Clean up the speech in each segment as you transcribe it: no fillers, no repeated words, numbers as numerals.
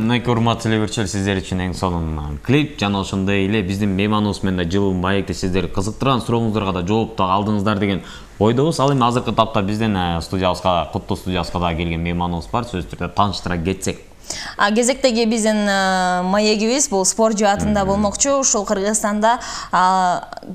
Мынакей урматтуу телебөрчүлөр, сиздер үчүн эң сонун клип жана ошондой эле биздин мейманыбыз менен да жылы маекте сиздер кызыктырган сурооңуздарга да жооп да алдыңыздар деген ойдобуз. Ал эми азыркы тапта биздин студиябызга, Куттуу студиясына да келген мейманыбыз бар. Сөзсүз түрдө тааныштыра кетсек. Кезектеги биздин маегибиз бул спорт жаатында болмокчу. Ушул Кыргызстанда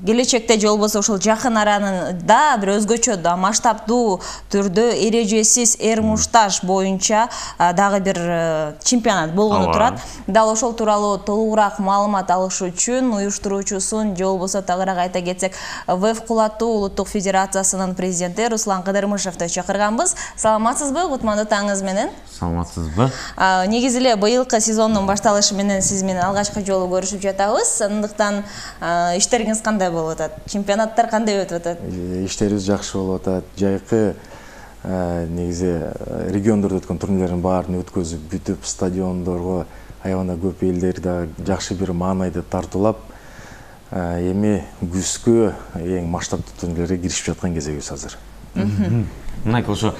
келечекте же болбосо ушул жакын арада бир өзгөчө масштабдуу түрдө эрежесиз эрмуштаж боюнча дагы бир чемпионат болгону турат. Дал ошол тууралуу толугураак маалымат алыш үчүн уюштуруучусун же болбосо тагыраак айта кетсек, ВФ Кулаттуу улуттук федерациясынын президенти Руслан Кыдырмышевди чакырганбыз. Саламатсызбы? Кутмандуу таңыңыз менен. Саламатсызбы? Негизи эле быйылкы сезондун башталышы менен сиз менен алгачкы жолу көрүшүп жатабыз. Андыктан иштериңиз кандай болуп атат? Чемпионаттар кандай өтүп атат? Иштерибиз жакшы болуп атат. Жайкы негизи региондордо өткөн турнирлердин баарын өткөзүп бүтүп, стадиондорго аябаганда көп элдер да жакшы бир маанайды тартуулап, эми күзгө эң масштабдуу турнирлерге киришип жаткан кезегибиз азыр. Мынакей ошо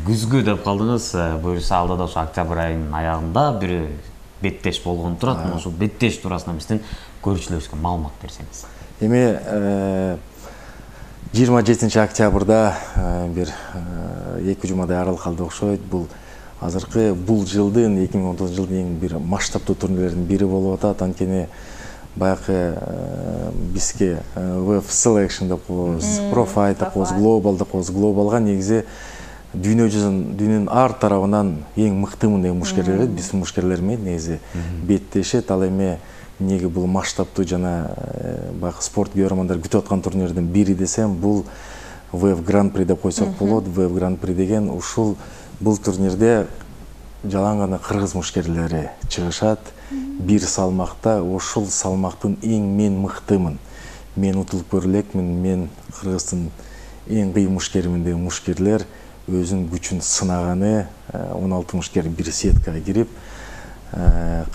күзгү деп калдыңыз, буюрса алда да ошо октябрь айынын аягында бир беттеш болгон турат. Ошол беттеш туурасында биздин көрүүчүлөрүбүзгө маалымат берсеңиз. Эми 27 октябрда бир 2 жумадай аралык калды окшойт. Бул азыркы бул жылдын 2019 жылдын эң бир масштабдуу турнирлердин бири болуп атат. Анткени баягы бизге ВФ Selection деп коебуз, Pro Fight деп коебуз, Global деп коебуз. Глобалга негизи дүйнөнүн ар тарабынан эң мыктымын деген мушкерлер, биздин мушкерлер менен негизи беттешет. Ал эми неге бул масштабдуу жана баягы спорт көрөрмандар күтүп аткан турнирлердин бири десем, бул ВФ Гран-при деп койсок болот. ВФ Гран-при деген ушул бул турнирде жалаң гана кыргыз мушкерлери чыгышат. Бир салмакта ошол салмактын эң мен мыктымын, мен утулуп көрө элекмин, мен Кыргыздын эң кыйын мушкеримин деген мушкерлер өзүнүн күчүн сынаганы, 16 мушкер бир сеткага кирип,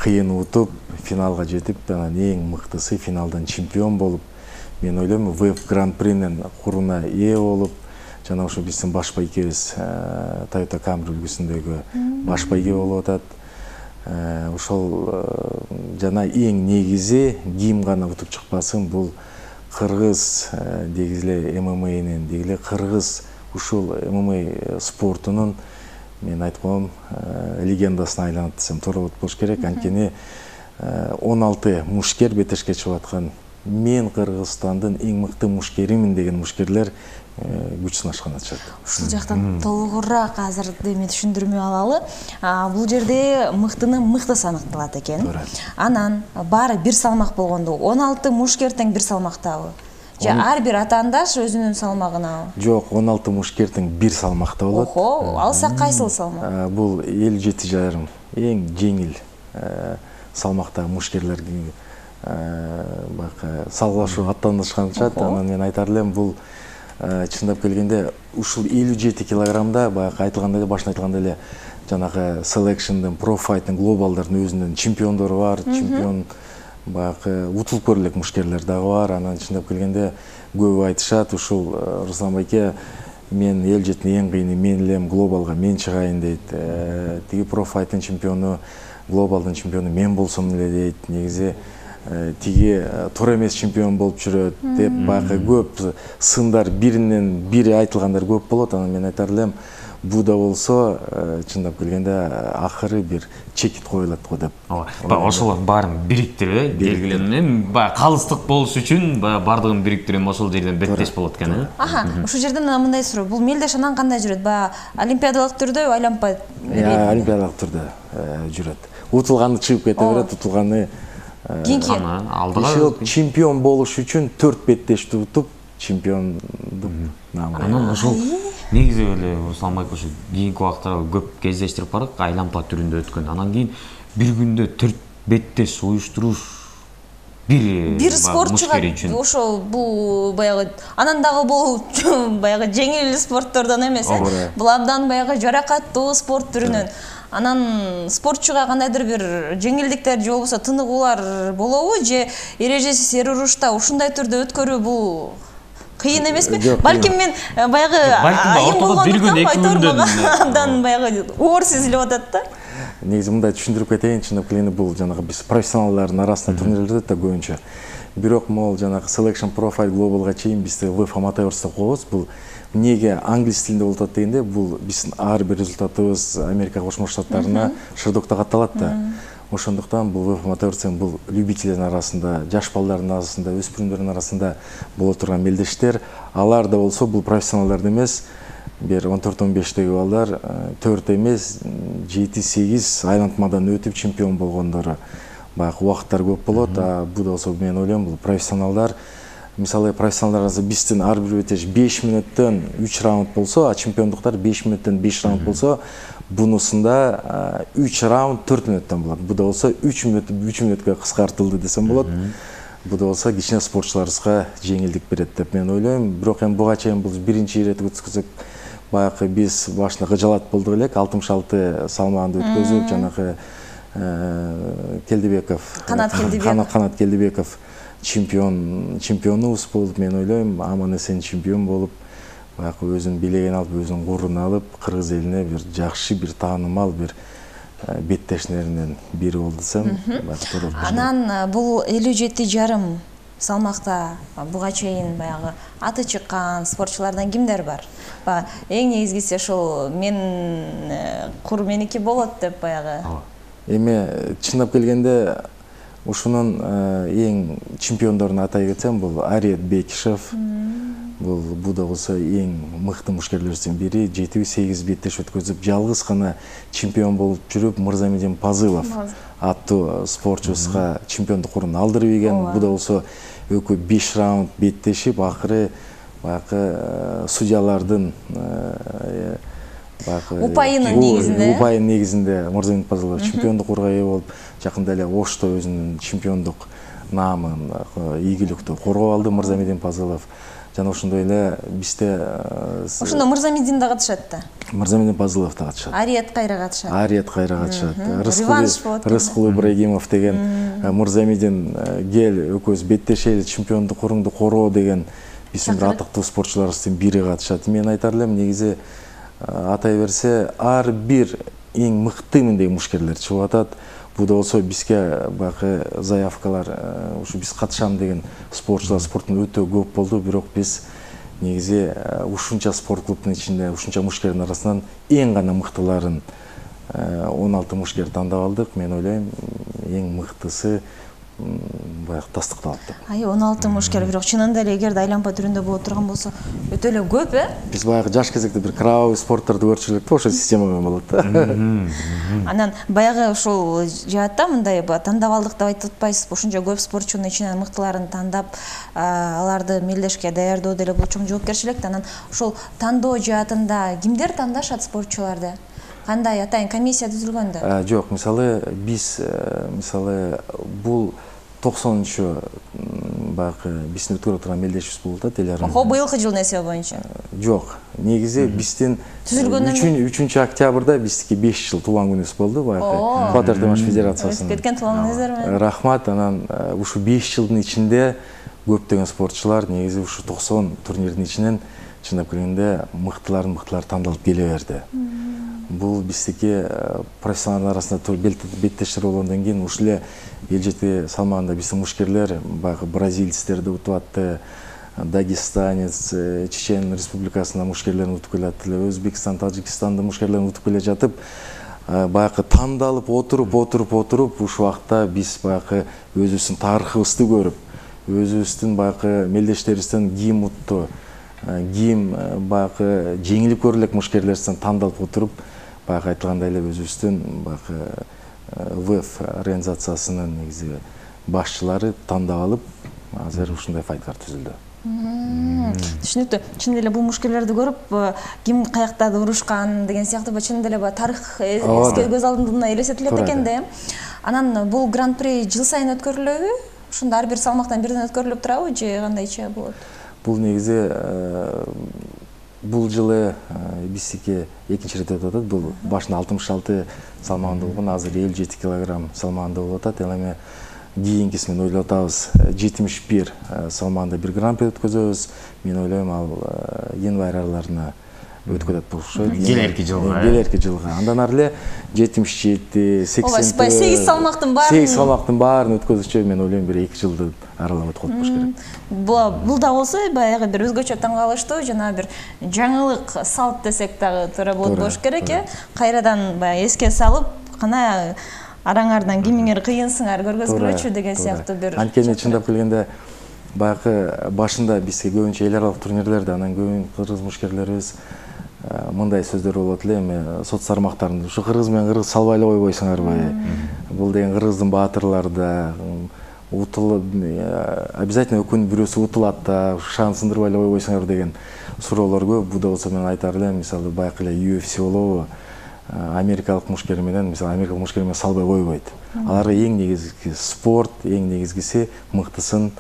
кыйын утуп, финалга жетип, анан эң мыктысы финалдан чемпион болуп, мен ойлойм ВФ Гран-принин куруна ээ болуп, жана ошо биздин баш байкебиз Toyota Camry үлгүсүндөгү баш байке болуп атат. Ошол жана эң негизи ким гана утуп чыкпасын, бул кыргыз дегиз эле ММАнын, деги эле кыргыз ушул ММА спортунун мен айтып коем легендасына айланат десем туура болуш керек. Анткени 16 мушкер бетешке чыгып аткан, мен Кыргызстандын эң мыкты мушкеримин деген мушкерлер күч сынашкан атышат. Ушул жактан толугураак азыр эми түшүндүрмө алалы. Бул жерде мыктыны мыктысы аныкталат экен. Анан баары бир салмак болгондо 16 мушкер тең бир салмактабы? Же ар бир атаандаш өзүнүн салмагынабы? Жок, 16 мушкер тең бир салмакта болот. Охо, алса кайсыл салмак? Бул 57,5 эң жеңил салмактагы мушкерлерге салгылашуу аттанышканчат. Анан мен айтар элем, бул чындап келгенде ушул 57 килограммда баягы айтылгандай эле, башында айтылгандай эле жанагы Selection'дын, Pro Fight'ын, Global'дардын өзүнүн чемпиондору бар, чемпион баягы утулуп көрө элек мушкерлер дагы бар. Анан чындап келгенде көбү айтышат, ушул Руслан байке, мен эл жеттин эң кыйыны мен элем, Global'га мен чыгайын дейт. Тиги Pro Fight'ын чемпиону, Global'дын чемпиону мен болсом эле дейт. Негизи тиги туура эмес чемпион болуп жүрөт деп баягы көп сындар, биринен бири айтылгандар көп болот. Анан мен айтар элем, бул да болсо чындап келгенде акыры бир чекит коюлат го деп. Ошолор баарын бириктирип, белгиленген баягы калыстык болуш үчүн бардыгын бириктирип ошол жерден беттеш болот экен, э? Ушул жерден мындай суроо, бул мелдеш анан кандай жүрөт? Баягы олимпиадалык түрдө айланпай? Олимпиадалык түрдө жүрөт. Утулганы чыгып кете берет, утулганы алдыга чемпион болуш үчүн 4 беттешти утуп чемпиондук наамына. Анан ошол негизи эле Руслан байке ошо кийинки убакта көп кездештирип барат, айланпа түрүндө өткөн. Анан кийин бир күндө 4 беттеш уюштуруш бир спортчуга ошол бул баягы анан дагы бул баягы жеңил спорттордон эмес, э? Бул абдан баягы жаракаттуу спорт түрүнөн. Анан спортчуга кандайдыр бир жеңилдиктер же болбосо тыныгуулар болобу, же эрежесиз эр урушта ушундай түрдө өткөрүү бул кыйын эмеспи? Балким мен баягы айым болгондуктан айтормага абдан баягы оор сезилип атат да. негизи мындай түшүндүрүп кетейин, чындап келгенде бул жанагы биз профессионалдардын арасында турнирлер өтөт да көбүнчө. Бирок могул жанагы Selection Profile Globalга чейин бизде WF Amateurs деп коебуз. Бул эмнеге англис тилинде болуп атат дегенде, бул биздин ар бир результатыбыз Америка Кошмо Штаттарына шырдокто катталат да. Ошондуктан бул WF Amateurs бул любительдердин арасында, жаш балдардын арасында, өспүрүмдөрдүн арасында боло турган мелдештер. Алар да болсо бул профессионалдар эмес. Бир 14-15-деги балдар 4 эмес 7-8 айлантмадан өтүп чемпион болгондору баягы убакыттар көп болот. Бул болсо мен ойлойм бул профессионалдар. Мисалы профессионалдар биздин ар бир бетеш 5 мүнөттөн 3 раунд болсо, а чемпиондуктар 5 мүнөттөн 5 раунд болсо, бунусунда 3 раунд 4 мүнөттөн болот. Бу да болсо 3 мүнөткө кыскартылды десем болот. Бу да болсо кичине спортчуларыбызга жеңилдик берет деп мен ойлойм. Бирок эми буга чейин бул биринчи ирет өткөзүп, баягы биз башында кыжалат болдук элек, 66 салмагында өткөзүп, жанагы Келдибеков, Канат Келдибеков чемпионубуз болуп, мен ойлойм, аман-эсен чемпион болуп, баягы өзүн бийлеген алып, өзүнүн гуруруна алып, кыргыз элине бир жакшы, бир таанымал, бир беттештеринен бири болду десем. Анан бул 57,5 салмакта буга чейин баягы аты чыккан спортчулардан кимдер бар? Эң негизгиси ошол мен кур меники болот деп баягы. Эми чындап келгенде ушунун эң чемпиондорун атай кетсем, бул Ариет Бекишев, бул да болсо эң мыкты мушкерлердин бири, 7-8 беттеш өткөзүп, жалгыз гана чемпион болуп жүрүп, Мырзамедин Пазылов аттуу спортчубузга чемпиондук орун алдырып ийген. Бу да болсо экөө 5 раунд беттешип, акыры баягы судьялардын упайынын негизинде Мырзамедин Пазылов чемпиондук орунга ээ болуп, жакында эле Ошто өзүнүн чемпиондук наамын, ийгиликтүү коргоп алды Мырзамедин Пазылов. Жана ошондой эле бизде ошондо Мырзамедин да катышат да. Мырзамедин Пазылов да катышат. Ариет кайра катышат. Рыскул Ибрагимов деген Мырзамедин кел экөөбүз беттешели, чемпиондук орунду короо деген биздин бир атыктуу спортчуларыбыздын бири катышат. Мен айтар элем, негизи атай берсе ар бир эң мыктымын деген мушкерлер чыгып атат. Бу да болсо бизге баягы заявкалар, ушу биз катышам деген спортчулар спорттун өтө көп болду. Бирок биз негизи ушунча спорт клубунун ичинде, ушунча мушкердин арасынан эң гана мыктыларын 16 мушкер тандап алдык. Мен ойлойм, эң мыктысы баягы тастыкталат деп. 16 мушкер, бирок чынында эле эгерде айланпа түрүндө боло турган болсо өтө эле көп, Биз баягы жаш кезекте бир кровавый спорттарды көрчү элек да, ошо система менен болот да. Анан баягы ушул жаатта мындай тандап алдык деп айтып атпайсызбы? Ушунча көп спортчунун ичинен мыктыларын тандап, аларды мелдешке даярдоо деле бул чоң жоопкерчилик. Анан ошол тандоо жаатында кимдер тандашат спортчуларды? Кандай атайын комиссия түзүлгөндө? Жок, мисалы биз бул 90-чу баягы биздин өткөрүп турган мелдешибиз болуп атат эл арасында. Быйылкы жылдын эсеби боюнча? Жок, негизи биздин 3-октябрда биздики 5 жыл туулган күнүбүз болду, баягы Фатер-Демаш федерациясынын. Кеткен туулган Рахмат. Анан ушу 5 жылдын ичинде көптөгөн спортчулар негизи ушу 90 турнирдин ичинен чындап келгенде мыктылар тандалып келе берди. Бул биздики профессионалдын арасында беттештер болгондон кийин ушул эле эл жети салмагында биздин мушкерлер баягы бразильцтерди утуп атты, дагестанец, Чечен республикасынын мушкерлерин утуп келе атты, Өзбекстан, Тажикстандын мушкерлерин утуп келе жатып, баягы тандалып отуруп ушул убакта биз баягы өзүбүздүн тарыхыбызды көрүп, өзүбүздүн баягы мелдештерибизден ким утту, ким баягы жеңилип көрүлө элек мушкерлерден тандалып отуруп, баягы айтылгандай эле өзүбүздүн баягы ВФ организациясынын негизи башчылары тандап алып, азыр ушундай файткар түзүлдү. Түшүнүктүү. Чын эле бул мушкерлерди көрүп, ким каякта урушкан деген сыяктуу чын эле тарых көз алдына элестетилет экен да. Анан бул гран-при жыл сайын өткөрүлөбү? Ушунда ар бир салмактан бирден өткөрүлүп турабы же кандайча болот? Бул негизи бул жылы биздики экинчи ирет өтүп атат. Бул башында 66 салмагында болгон, азыр 57 килограмм салмагында болуп атат. Эми кийинкиси мен ойлоп атабыз 71 салмагында бир гран-при өткөзөбүз. Мен ойлойм ал январь араларына өткөн атат болушат. Келерки жылга. Келерки жылга. Андан ары эле 77, 80. 8 салмактын баарын. 8 салмактын баарын өткөзүшчө мен ойлойм бир 2 жылды аралап өтүп калып болуш керек. Бул да болсо баягы бир өзгөчө таң калыштуу жана бир жаңылык салт десек дагы туура болот болуш керек э. Кайрадан баягы эске салып, кана араңардан кимиңер кыйынсыңар көргөзгүлөчү деген сыяктуу бир. Анткени чындап келгенде баягы башында бизге көбүнчө эл аралык турнирлерде анан көбүн кыргыз мушкерлерибиз мындай сөздөр болот эле, эми соц тармактарында ушу кыргыз менен кыргыз салбай эле койбойсуңарбы? Бул деген кыргыздын баатырлары да утулуп обязательно өкүн бирөөсү утулат да, шаан сындырбай эле койбойсуңар деген суроолор көп. Бу да болсо мен айтар элем, мисалы баягы эле UFC болобу, америкалык мушкер менен, мисалы америкалык мушкер менен салбай койбойт. Аларга эң негизги спорт, эң негизгиси мыктысын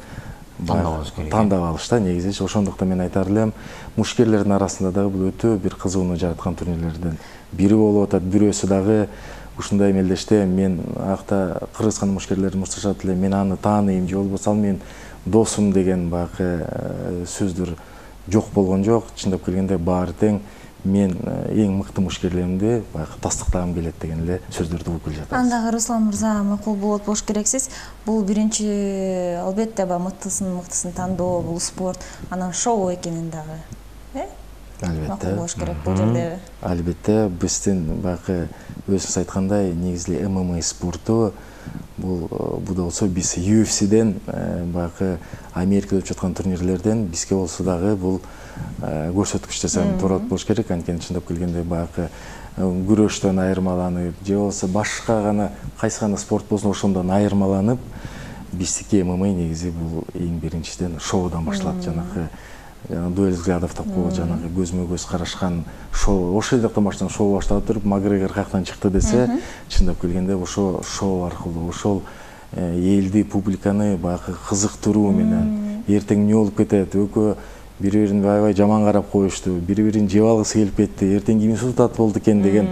тандап алыш да негизи. Ошондуктан мен айтар элем, мушкерлердин арасында дагы бул өтө бир кызууну жараткан турнирлерден бири болуп атат. Бирөөсү дагы ушундай мелдеште мен акта кыргызстан мушкерлери мушташат эле, мен аны тааныйм же болбосо ал менин досум деген баягы сөздөр жок болгон жок. Чындап келгенде баары тең мен эң мыкты мушкерлеримди баягы тастыктагым келет деген эле сөздөрдү угуп келе жатабыз. Андагы Руслан мырза макул болот болуш керексиз. Бул биринчи албетте мыктысын тандоо, бул спорт, анан шоу экенин дагы. Албетте. Макул болуш керек бул жерде. Албетте биздин баягы өзүңүз айткандай негизи ММА спорту бул да болсо биз UFC'ден баягы Америкада өтүп жаткан турнирлерден бизге болсо дагы бул көрсөткүч десем туура болуш керек. Анткени чындап келгенде баягы күрөштөн айырмаланып же болбосо башка гана кайсы гана спорт болсун ошондон айырмаланып биздики ММА негизи бул эң биринчиден шоудан башталат. Жанагы дуэль взглядов деп коет, жанагы көзмө көз карашкан шоу. Ошол жактан башталып шоу башталып туруп Макгрегор каяктан чыкты десе, чындап келгенде ошо шоу аркылуу ошол элди, публиканы баягы кызыктыруу менен эртең эмне болуп кетет, экөө бири-бирин аябай жаман карап коюшту, бири-бирин жеп алгысы келип кетти, эртең кимиси утат болду экен деген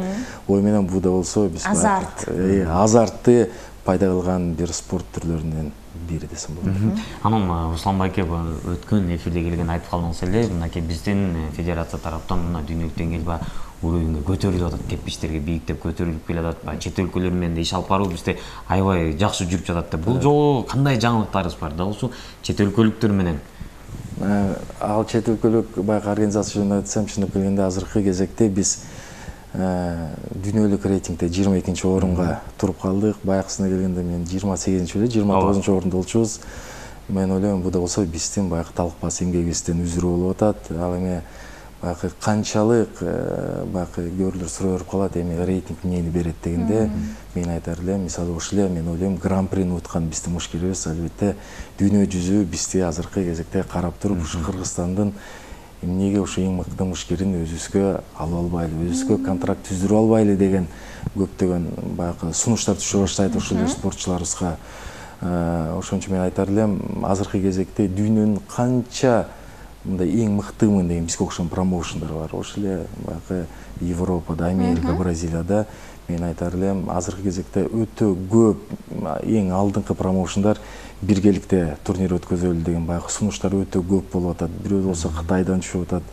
ой менен бу да болсо биз азартты пайда кылган бир спорт түрлөрүнөн бири десем болот. Анан Руслан байке өткөн эфирде келген айтып калдыңыз эле, мынакей биздин федерация тараптан мына дүйнөлүк деңгээлде уровеньге көтөрүлүп атат, кепичтерге бийиктеп көтөрүлүп келе атат. Чет өлкөлөр менен иш алып баруу бизде аябай жакшы жүрүп жатат деп. Бул жолу кандай жаңылыктарыбыз бар? Дал ушул чет өлкөлүктөр менен. Ал чет өлкөлүк баягы организация жөнүндө айтсам, чындап келгенде азыркы кезекте биз дүйнөлүк рейтингде 22-нчи орунга туруп калдык. Баягысына келгенде мен 28-нчи эле 29-нчу орунда болчубуз. Мен ойлойм бу да болсо биздин баягы талкпас эмгегибизден үзүрү болуп атат. Ал эми баягы канчалык баягы көрүүлөр суроо берип калат, эми рейтинг эмнени берет дегенде мен айтар элем, мисалы ошол эле мен ойлойм гран-прини уткан биздин мушкерибиз албетте дүйнө жүзү бизди азыркы кезекте карап туруп, ушу Кыргызстандын эмнеге ушу эң мыкты мушкерин өзүбүзгө алып албайлы, өзүбүзгө контракт түздүрүп албайлы деген көптөгөн баягы сунуштар түшө баштайт ошол эле спортчуларыбызга. Ошон үчүн мен айтар элем, азыркы кезекте дүйнөнүн канча мындай эң мыктымын деген бизге окшогон промоушендар бар. Ошол эле баягы Европада, Америка, Бразилияда мен айтар элем, азыркы кезекте өтө көп эң алдыңкы промоушендар биргеликте турнир өткөзөлү деген баягы сунуштар өтө көп болуп атат. Бирөө болсо Кытайдан түшүп атат.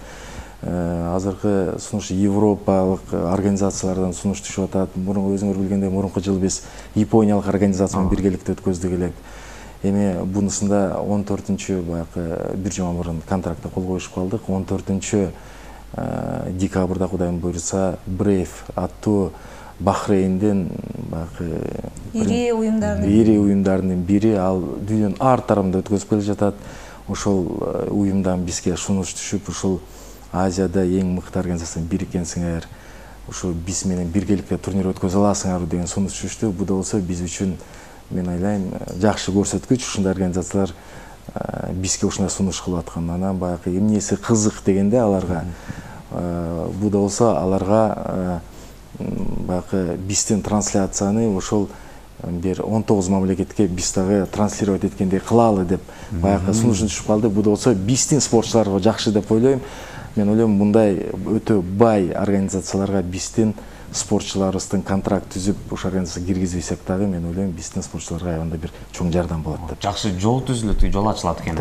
Азыркы сунуш европалык организациялардан сунуш түшүп атат. Мурун өзүңөр билгендей, мурунку жыл биз Япониялык организация менен биргеликте өткөздүк элек. Эми бунусунда 14-чү баягы бир жума мурун контрактка кол коюшуп калдык. 14-чү декабрда Кудайым буйруса Brave аттуу Бахрейнден баягы ири уюмдардын бири, ал дүйнөнүн ар тарабында өткөзүп келе жатат. Ошол уюмдан бизге сунуш түшүп, ушул Азияда эң мыкты организациянын бири экенсиңер, ушул биз менен биргеликте турнир өткөзө аласыңар деген сунуш түштү. Бу да болсо биз үчүн мен ойлойм жакшы көрсөткүч. Ушундай организациялар бизге ушундай сунуш кылып аткан. Анан баягы эмнеси кызык дегенде аларга бу да болсо аларга баягы биздин трансляцияны ошол бир 19 мамлекетке биз дагы транслировать эткендей кылалы деп баягы сунуш түшүп калды. Бу да болсо биздин спортчуларга жакшы деп ойлойм. Мен ойлойм мындай өтө бай организацияларга биздин спортчуларыбыздын контракт түзүп ошол организацияга киргизбесек дагы мен ойлойм биздин спортчуларга аябында бир чоң жардам болот деп. Жакшы жол түзүлөт, жол ачылат экен.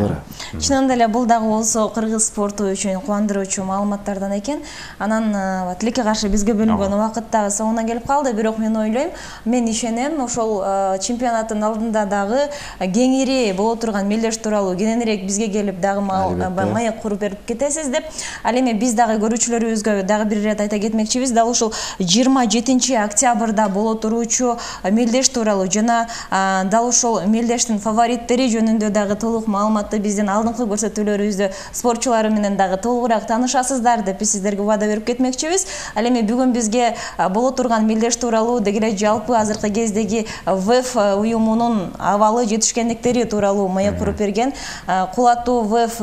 Чынында эле бул дагы болсо кыргыз спорту үчүн кубандыруучу маалыматтардан экен. Анан тилекке каршы бизге бөлүнгөн убакыт дагы соңуна келип калды, бирок мен ойлойм, мен ишенем, ошол чемпионаттын алдында дагы кеңири боло турган мелдеш тууралуу кененирээк бизге келип дагы маек куруп берип кетесиз деп. Ал эми биз дагы көрүүчүлөрүбүзгө дагы бир ирет айта кетмекчибиз. Дал ушул 27 октябрда боло туруучу мелдеш тууралуу жана дал ушул мелдештин фавориттери жөнүндө дагы толук маалыматты биздин алдыңкы көрсөтүүлөрүбүздө спортчулары менен дагы толугураак таанышасыздар деп биз сиздерге убада берип кетмекчибиз. Ал эми бүгүн бизге боло турган мелдеш тууралуу дегеле жалпы азыркы кездеги ВЭФ уюмунун абалы жетишкендиктери тууралуу маек куруп берген кулаттуу ВЭФ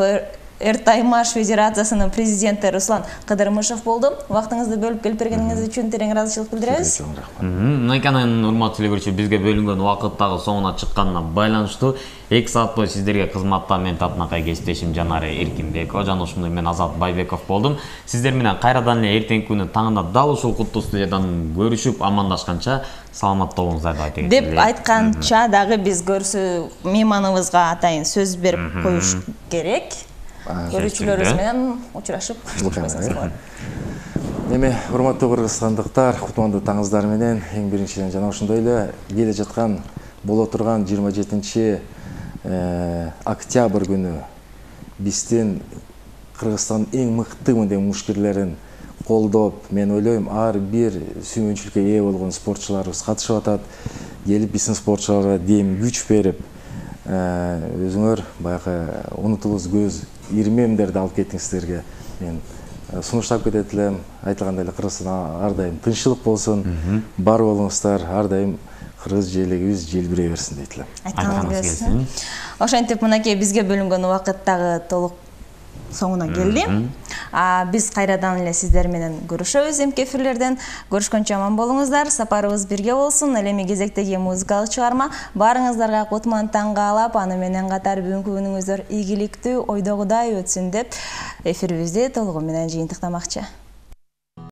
Эртаймаш Федерациясынын президенти Руслан Кыдырмышев болду. Убактыңызды бөлүп келип бергениңиз үчүн терең ыраазычылык билдиребиз. Мынакенен урматтуу телекөрүүчү, бизге бөлүнгөн убакыт дагы соңуна чыкканына байланыштуу 2 саат бою сиздерге кызматта мен татынакай кесиптешим Жанаре Эркинбекова жана ошондой мен Азат Байбеков болдум. Сиздер менен кайрадан эле эртеңки күнү таңында дал ушул куттуу студиядан көрүшүп амандашканча саламатта болуңуздар деп айта кетели. Деп айтканча дагы биз көрсө мейманыбызга атайын сөз берип коюш керек. Көрүүчүлөрүбүз менен учурашып коштошпойсуңуздар. Эми урматтуу кыргызстандыктар, кутмандуу таңыңыздар менен эң биринчиден жана ошондой эле келе жаткан боло турган 27 октябрь күнү биздин Кыргызстандын эң мыкты мындай мушкерлерин колдоп, мен ойлойм, ар бир сүймөнчүлүккө ээ болгон спортчуларыбыз катышып атат. Келип биздин спортчуларга дем күч берип, өзүңөр баягы унутулуз көз ирмемдерди алып кеттиңиздерге мен сунуштап кетет элем. Айтылгандай эле Кыргызстанда ар дайым тынччылык болсун, бар болуңуздар, ар дайым кыргыз желегибиз желбирей берсин дейт элем. Айтканыңыз келсин. Ошентип мынакей бизге бөлүнгөн убакыт дагы толук соңуна келди. Биз кайрадан эле сиздер менен көрүшөбүз эмки эфирлерден. Көрүшкөнчө аман болуңуздар, сапарыбыз бирге болсун. Ал эми кезектеги музыкалык чыгарма баарыңыздарга кутман таң каалап, аны менен катар бүгүнкү күнүңүздөр ийгиликтүү, ойдогудай өтсүн деп эфирибизди толугу менен жыйынтыктамакчы.